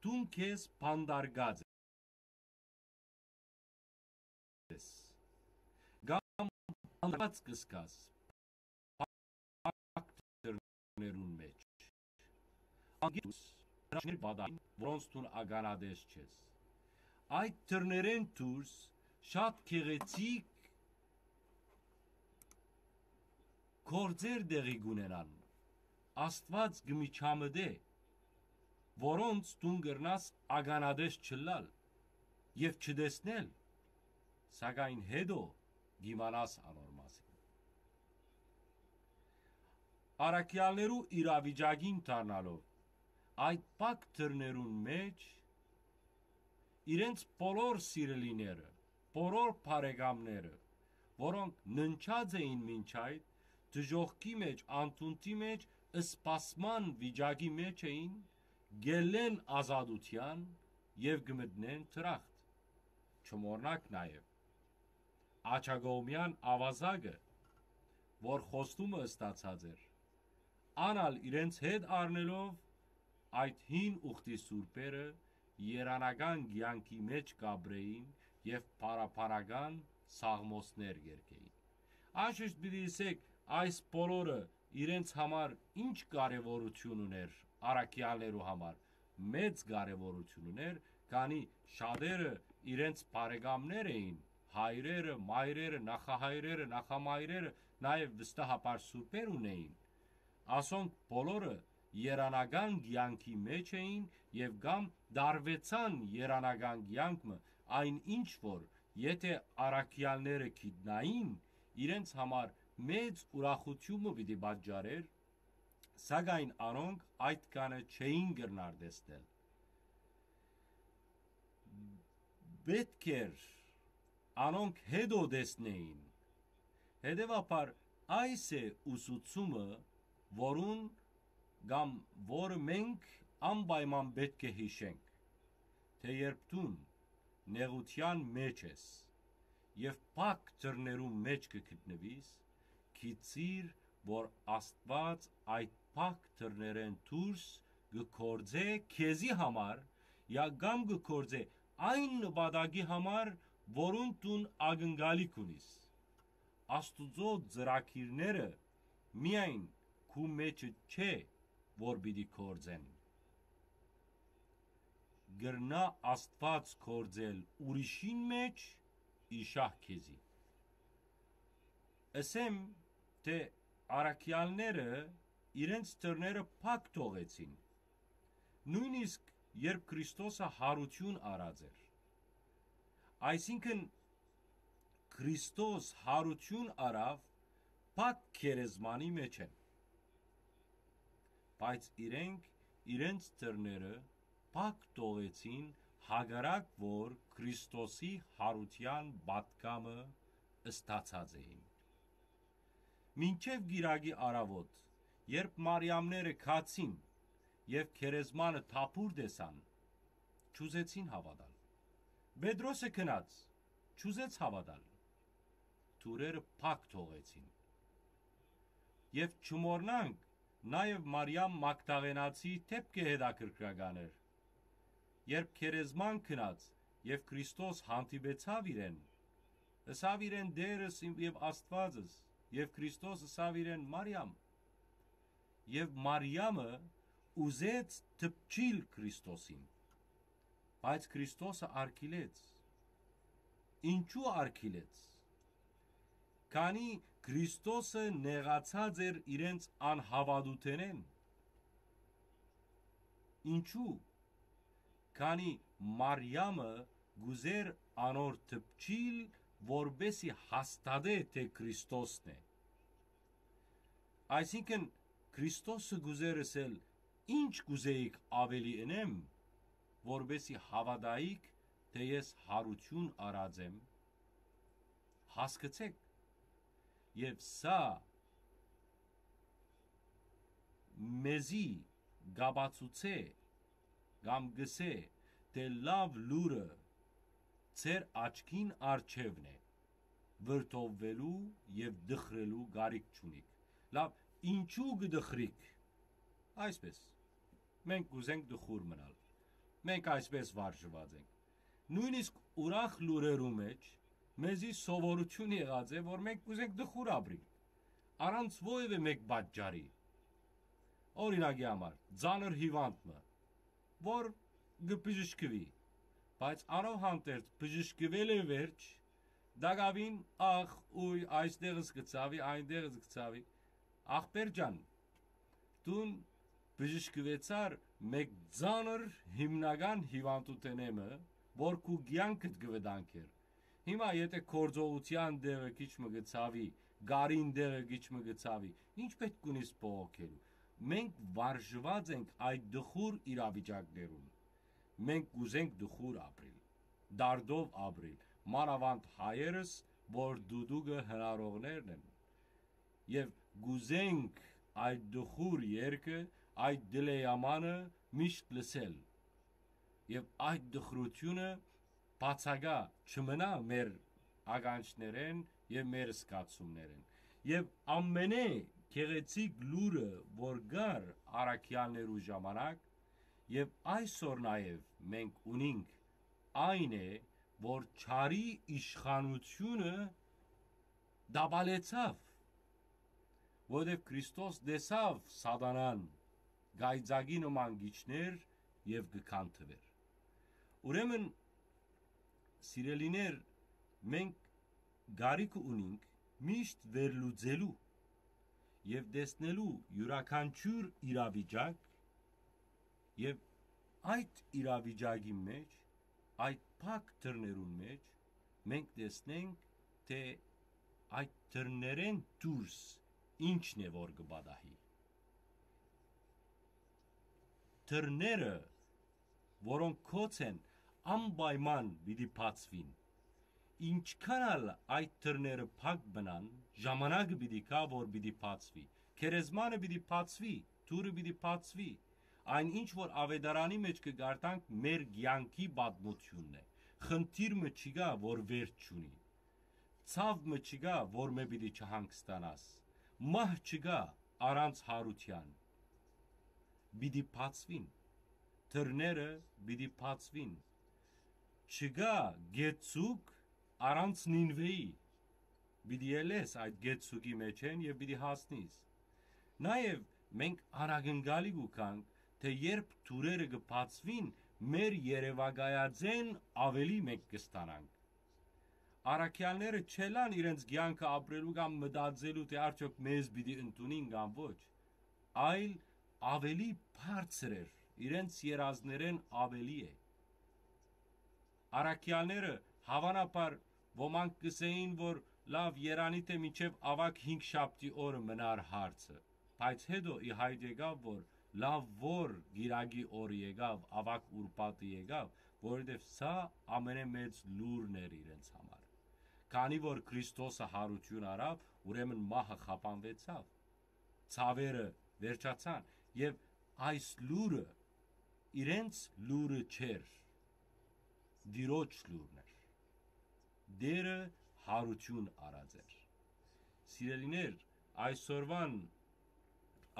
դուն քեզ բանտարկած ես, կամ բանտարկած կը զգաս փակ դռներուն մէջ, անգիտուս հրաշքներ պատահին, որոնց դուն ականատես չես։ Այդ դռներէն դուրս շատ գեղեցիկ գործեր տեղի կ'ունենան։ Աստուած կը միջամտէ, որոնց դուն կրնաս ականատես չըլլալ եւ չտեսնել, սակայն յետոյ կ'իմանաս անոր մասին։ Առաքեալներու իրավիճակին դառնալով, այդ փակ դռներուն մէջ իրենց բոլոր սիրելիները, բոլոր բարեկամները, որոնք ննջած էին մինչ այդ, դժոխքի մէջ, անդունդի մէջ, սպասման վիճակի մէջ էին, կ'ելլեն ազատութեան եւ կը մտնեն դրախտ։ Չմոռնաք նաեւ աջակողմեան աւազակը, որ խոստումը ստացած էր, ան ալ իրենց հետ առնելով, այդ հին ուխտի սուրբերը երանական կեանքի մէջ կ'ապրէին եւ փառաբանական սաղմոսներ կ'երգէին։ Անշուշտ պիտի ըսէք, այս բոլորը իրենց համար ինչ կարեւորութիւն ունէր առաքեալներու համար, մեծ կարեւորութիւն ունէր, քանի շատերը իրենց բարեկամներ էին, հայրերը, մայրերը, նախահայրերը, նախամայրերը, նաեւ վստահաբար սուրբեր ունէին։ Ասոնք բոլորը երանական կեանքի մէջ էին եւ կամ դարվեցան երանական կեանք մը, այն ինչ որ, եթէ առաքեալները գիտնային, իրենց համար մեծ ուրախութիւն մը պիտի պատճառէր, սակայն անոնք այդ կանը չէին կրնար տեսնել։ Պէտք էր անոնք յետոյ տեսնէին։ Հետեւաբար այս է ուսուցումը, որուն կամ որը մենք անպայման պէտք է յիշենք, թէ երբ դուն նեղութեան մէջ ես եւ փակ դռներու մէջ կը գտնուիս, գիծիր որ Աստուած այդ փակ դռներէն դուրս կը գործէ քեզի համար, յա կամ կը գործէ այն նպատակի համար, որուն դուն ակնկալիք ունիս։ Աստուծոյ ծրագիրները միայն քու մէջը չէ, որ պիտի գործեն։ Կրնայ Աստուած գործել ուրիշին մէջ, իշահ քեզի։ Ըսեմ թէ առաքեալները իրենց դռները փակ թողեցին, նոյնիսկ երբ Քրիստոսը յարութիւն առած էր։ Այսինքն՝ Քրիստոս յարութիւն առաւ փակ գերեզմանի մէջէն։ Բայց իրենք իրենց դռները փակ թողեցին, հակառակ որ Քրիստոսի յարութեան պատգամը ստացած էին։ Մինչեւ կիրակի առաւօտ, երբ Մարիամները գացին եւ գերեզմանը թափուր տեսան, չուզեցին հաւատալ։ Պետրոսը գնաց, չուզեց հաւատալ։ Դուռերը փակ թողեցին։ Եւ չմոռնանք նաեւ Մարիամ Մագդաղենացի դէպքը հետաքրքրական էր։ Երբ գերեզման գնաց եւ Քրիստոս հանդիպեցաւ իրեն, ըսաւ իրեն. «Տէրս իմ եւ Աստուածս»։ Եւ Քրիստոս ըսաւ իրեն. «Մարիամ»։ Եւ Մարիամը ուզեց դպչիլ Քրիստոսին, բայց Քրիստոսը արգիլեց։ Ինչու արգիլեց։ Քանի Քրիստոսը նեղացած էր իրենց անհաւատութենէն։ Ինչու։ Քանի Մարիամը կ'ուզէր անոր դպչիլ, որպէսի հաստատէ թէ Քրիստոսն է։ Այսինքն՝ Քրիստոսը կ'ուզէր ըսել. «Ինչ կ'ուզէիք աւելի ընեմ, որպէսի հաւատայիք թէ ես յարութիւն առած եմ»։ Հասկցէք, եւ սա մեզի կ'ապացուցէ կամ կ'ըսէ թէ լաւ լուրը ձեր աչքին առջեւն է, վրդովուելու եւ տխրելու կարիք չունիք։ Լաւ, ինչու կը տխրիք։ Այսպես, մենք կ'ուզենք տխուր մնալ, մենք այսպես վարժուած ենք։ Նոյնիսկ ուրախ լուրերու մէջ մեզի սովորութիւն եղած է, որ մենք կ'ուզենք տխուր ապրիլ, առանց որեւէ մէկ պատճառի։ Օրինակի համար, ծանր հիւանդ մը, որ կը բժշկուի, բայց անով հանդերձ բժշկուելէ վերջ, տակաւին ախ, ուի, այստեղ զգացաւի, այնտեղ զգացաւի, ախպեր ջան, դուն բժշկուեցար մէկ ծանր հիմնական հիւանդութենէ մը, որ քու կեանքդ կը վտանգէր։ Հիմա եթէ գործողութեան տեղը քիչ մը կը ցաւի, գարին տեղը քիչ մը կը ցաւի, ի՞նչ պէտք ունիս բողոքելու։ Մենք վարժուած ենք այդ տխուր իրավիճակներուն։ Մենք կ'ուզենք տխուր ապրիլ, դարդով ապրիլ, մանաւանդ հայերս, որ դուդուկը հնարողներն են։ Եւ կ'ուզենք այդ տխուր երգը, այդ դլեամանը միշտ լսել։ Եւ այդ տխրութիւնը բացակայ չմնայ մեր ականջներէն եւ մեր զգացումներէն։ Եւ ամենէ գեղեցիկ լուրը, որ կար առաքեալներու ժամանակ, եւ այսօր նաեւ մենք ունինք, այն է, որ չարի իշխանութիւնը տապալեցաւ, որովհետեւ Քրիստոս տեսաւ Սատանան կայծակի նման կ'իջնէր եւ կը քանդուէր։ Ուրեմն, սիրելիներ, մենք կարիքը ունինք միշտ վերլուծելու եւ տեսնելու իւրաքանչիւր իրավիճակ, եւ այդ իրավիճակի մէջ, այդ փակ դռներուն մէջ մենք տեսնենք թէ այդ դռներէն դուրս ինչն է որ կը պատահի։ Դռները, որոնք գոց են, անպայման պիտի բացուին։ Ինչքան ալ այդ դռները փակ մնան, ժամանակը պիտի գայ որ պիտի բացուի։ Գերեզմանը պիտի բացուի, դուռը պիտի բացուի։ Այն ինչ որ Աւետարանի մէջ կը կարդանք, մեր կեանքի պատմութիւնն է։ Խնդիր մը չկայ որ վերջ չունի։ Ցաւ մը չկայ որ մէ պիտի չհանգստանաս։ Մահ չկայ առանց յարութեան։ Պիտի բացուին։ Դռները պիտի բացուին։ Չկայ գետ ձուկ առանց Նինուէի։ Պիտի ելլես այդ գետ ձուկի մէջէն եւ պիտի հասնիս։ Նաեւ մենք անակնկալի կու գանք, թէ երբ դուռերը կը բացուին, մեր երեւակայածէն աւելի մենք կը ստանանք։ Առաքեալները չելան իրենց կեանքը ապրելու կամ մտածելու, թէ արդյոք մեզ պիտի ընդունին կամ ոչ, այլ աւելի բարձր էր, իրենց երազներէն աւելի է։ Առաքեալները հաւանաբար ոմանք կ'ըսէին, որ լաւ, երանի թէ մինչեւ աւագ հինգշաբթի օրը մնար հարցը, բայց հետո ի հայտ եկաւ, որ լաւ որ գիրագի օրը եկաւ, աւագ ուրբաթը եկաւ, որովհետեւ սա ամենէ մեծ լուրն էր իրենց համար։ Քանի որ Քրիստոսը յարութիւն առաւ, ուրեմն մահը խափանուեցաւ, ցաւերը վերջացան, եւ այս լուրը իրենց լուրը չէր, Տիրոջ լուրն էր։ Տերը յարութիւն առած էր։ Սիրելիներ, այսօրուան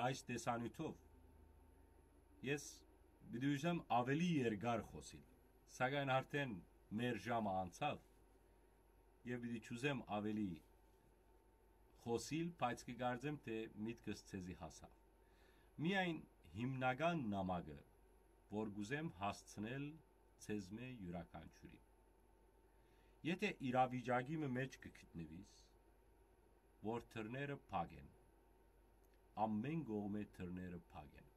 այս տեսանիւթով ես պիտի ուզեմ աւելի երկար խօսիլ, սակայն արդէն մեր ժամը անցաւ եւ պիտի չուզեմ աւելի խօսիլ, բայց կը կարծեմ, թէ միտքս ձեզի հասաւ։ Միայն հիմնական նամակը, որ կ'ուզեմ հասցնել ձեզմէ յուրաքանչիւրին։ Եթէ իրավիճակի մը մէջ կը գտնուիս, որ դռները փակ են, ամէն կողմէ դռները փակ են,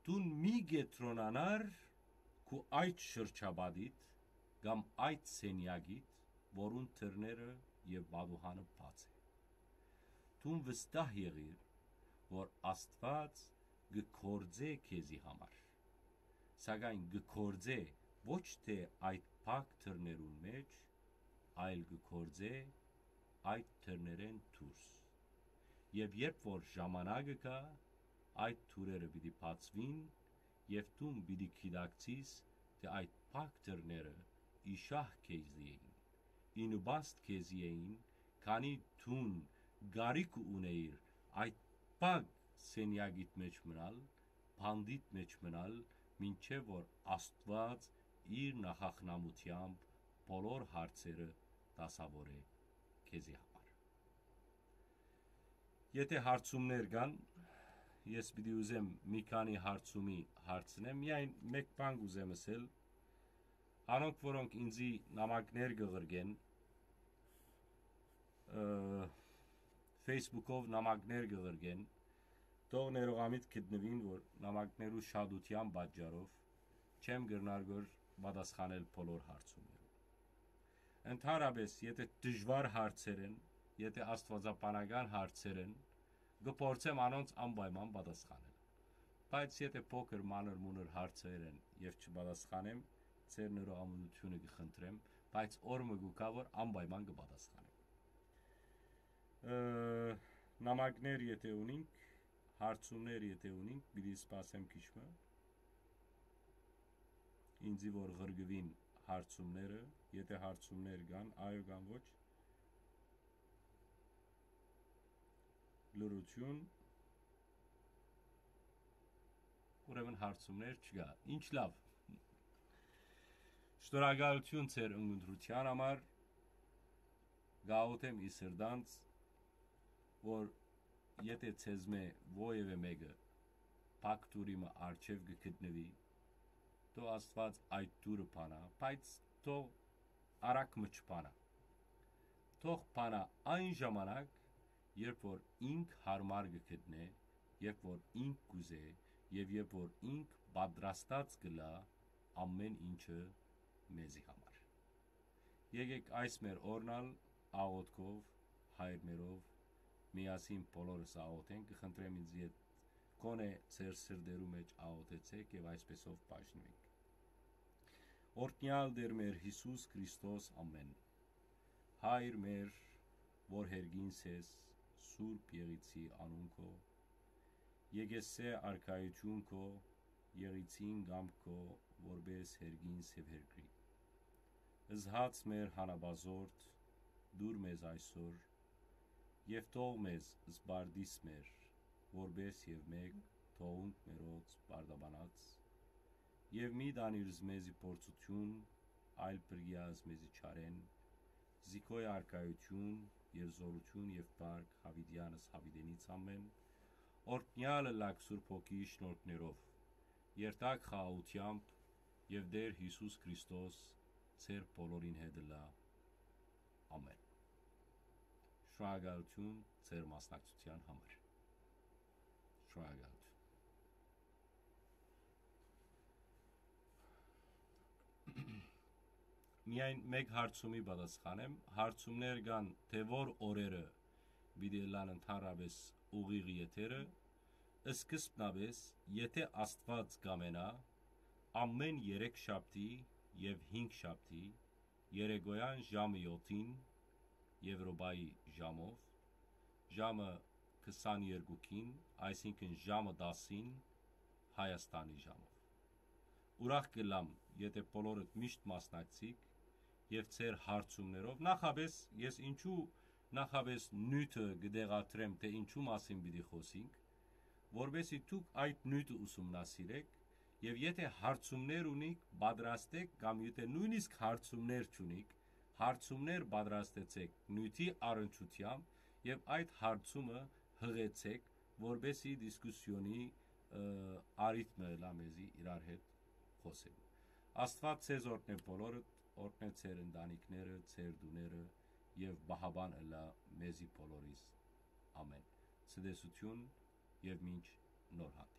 դուն մի կեդրոնանար քու այդ շրջապատիդ կամ այդ սենեակիդ, որուն դռները եւ պատուհանը բաց է։ Դուն վստահ եղիր, որ Աստուած կը գործէ քեզի համար, սակայն կը գործէ ոչ թէ այդ փակ դռներուն մէջ, այլ կը գործէ այդ դռներէն դուրս։ Եւ երբ որ ժամանակը գայ, այդ դուռերը պիտի բացուին եւ դուն պիտի գիտակցիս, թէ այդ փակ դռները ի շահ քեզի էին, ի նպաստ քեզի էին, քանի դուն կարիք ունեիր այդ փակ սենեակիդ մէջ մնալ, բանտիդ մէջ մնալ, մինչեւ որ Աստուած իր նախախնամութեամբ բոլոր հարցերը դասաւորէ քեզի համար։ Եթէ հարցումներ կան, ես պիտի ուզեմ մի քանի հարցումի հարցնեմ, միայն մէկ բան կ'ուզեմ ըսել, անոնք, որոնք ինձի նամակներ կը ղրկեն, ը, Facebook-ով նամակներ կը ղրկեն, թող ներողամիտ գտնուին, որ նամակներու շատութեան պատճառով չեմ կրնար որ պատասխանել բոլոր հարցումներուն։ Ընդհանրապես, եթէ դժուար հարցեր են, եթէ աստուածաբանական հարցեր են, կը փորձեմ անոնց անպայման պատասխանել։ Բայց եթէ փոքր մանր մունր հարցեր են եւ չպատասխանեմ, ձեր ներողամտությունը կը խնդրեմ, բայց օր մը կու գայ, որ անպայման կը պատասխանեմ։ Ը, նամակներ եթէ ունինք, հարցումներ եթէ ունինք, պիտի սպասեմ քիչ մը, ինձի որ ղրկուին հարցումները, եթէ հարցումներ կան, այո կամ ոչ, լրություն, ուրեմն հարցումներ չկայ։ Ինչ լաւ։ Շնորհակալութիւն ձեր ընտրութեան համար, կ'աղօթեմ ի սրտանց, որ եթէ ձեզմէ որեւէ մէկը փակ դուռի մը առջեւ կը գտնուի, թող Աստուած այդ դուռը բանայ, բայց թող արագ մը չբանայ։ Թող բանայ այն ժամանակ, երբ որ ինք յարմար կը գտնէ, երբ որ ինք կ'ուզէ եւ երբ որ ինք պատրաստած կ'ըլլայ ամէն ինչը մեզի համար։ Եկեք այս մեր օրն ալ աղօթքով, հայրմերով, միասին բոլորս աղօթենք, կը խնդրեմ ինձ ետ, գոնե ձեր սրտերու մէջ աղօթեցէք եւ այսպեսով բաժնուենք։ Օրհնեալ Տեր մեր Յիսուս Քրիստոս, ամէն։ Հայր մեր, որ հերգինս ես, Սուրբ Եղիցի անուն քո, եկեսե արքայություն քո, Եղիցին կամք քո, որպես հերգինս եւ հերկրի։ Զհաց մեր հանապազորդ, դուր մեզ այսօր, Եւ թող մեզ զբարդիս մեր, որպէս եւ մէկ թողունք մերոց պարտաբանած, եւ մի տանիր զմեզի փորձութիւն, այլ փրկիա զմեզի չարէն, զիգոյ արքայութիւն եւ զօրութիւն եւ փառք յաւիտեանս յաւիտենից ամէն, օրհնեալ ըլլաք Սուրբ Հոգի շնորհքներով, երթաք խաղաղութեամբ, եւ Տէր Յիսուս Քրիստոս ձեր բոլորին հետ ըլլայ։ Ամէն։ Շնորհակալութիւն ձեր մասնակցութեան համար։ Շնորհակալութիւն։ Միայն մէկ հարցումի պատասխանեմ։ Հարցումներ կան, թէ որ օրերը պիտի ըլլան ընդհանրապէս ուղիղ եթերը։ Սկզբնապէս, եթէ Աստուած կամենայ, ամէն երեք շաբթի եւ հինգ շաբթի երեկոյեան ժամը յոթին Եւրոպայի ժամով, ժամը քսաներկուքին, այսինքն ժամը տասին Հայաստանի ժամով։ Ուրախ կ'ըլլամ, եթէ բոլորդ միշտ մասնակցիք եւ ձեր հարցումներով, նախապէս ես ինչու նախապէս նիւթը կը տեղադրեմ, թէ ինչու մասին պիտի խօսինք, որպէսզի դուք այդ նիւթը ուսումնասիրէք եւ եթէ հարցումներ ունիք, պատրաստէք, կամ եթէ նոյնիսկ հարցումներ չունիք, հարցումներ պատրաստեցէք նիւթի առնչութեամբ եւ այդ հարցումը յղեցէք, որպէսզի դիսկուսիոնի, ը, առիթ մը ըլլայ մեզի իրար հետ խօսելու։ Աստուած ձեզ օրհնէ բոլորդ, օրհնէ ձեր ընտանիքները, ձեր տուները եւ պահապան ըլլայ մեզի բոլորիս։ Ամէն։ Ցտեսութիւն եւ մինչ նոր հանդիպում։